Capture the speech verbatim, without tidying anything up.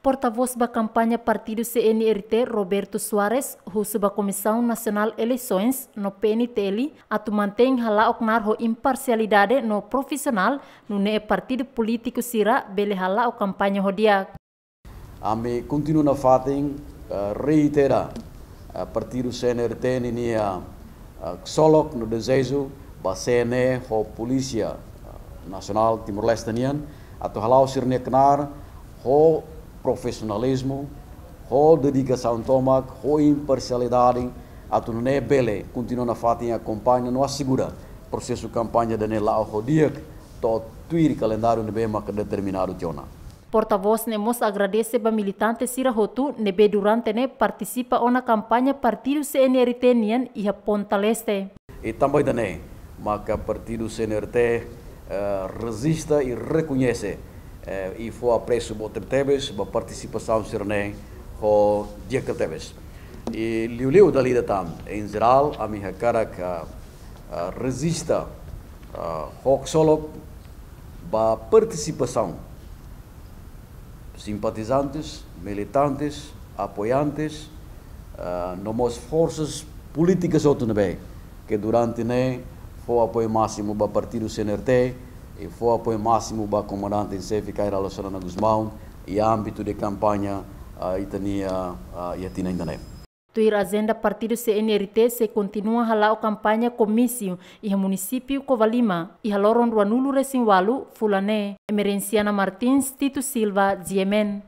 Portavós ba kampaña partidu C N R T, Roberto Soares, husu ba Komisaun Nasionál Eleisoens no P N T L atu mantein hala'o knaar ho imparsialidade no profisionál, nune'e partidu polítiku sira bele hala'o kampaña ho di'ak. Ami kontinua nafatin, eh, reitera, eh, partidu C N R T ninia, eh, ksolok no dezeju ba C N E ho Polísia, eh, Nasionál Timor-Leste nian, atu hala'o sira-nia knaar ho profisionalizmu, ho dedikasaun tomak, ho imparsialidade, atu nune'e bele kontinua nafatin akompaña no asegura prosesu kampaña ida-ne'e la'o ho di'ak, to'o tuir kalendáriu ne'ebé maka determinadu tiha ona. Portavós ne'e mós agradese ba militante sira hotu ne'ebé durante ne'e partisipa ona kampaña partidu C N R T nian iha Ponta Leste. I tanba ida-ne'e maka partidu C N R T, eh, rejista i rekoñese, eh, i fó apresu boot tebetebes ba partisipasaun sira-ne'e ho di'ak tebetebes. I liuliu dala ida tan, em geral, ami hakarak, ah, ah, rejista, ah, ho ksolok ba partisipasaun simpatizantes, militantes, apoiantes, ah, no mós forsas polítikas hotu ne'ebé ke durante ne'e fó apoiu másimu ba partidu C N R T i fó apoiu másimu ba komandante em xefe Kay Rala Xanana Gusmão iha ámbitu de kampaña, ah, ita-nia, ah, iha tinan ida-ne'e. Tuir ajenda partidu C N R T sei kontinua hala'o kampaña komísiu iha munisípiu Covalima iha loron ruanulu-resin-ualu fulan ne'e. Emerenciana Martins, Tito Silva, G M N.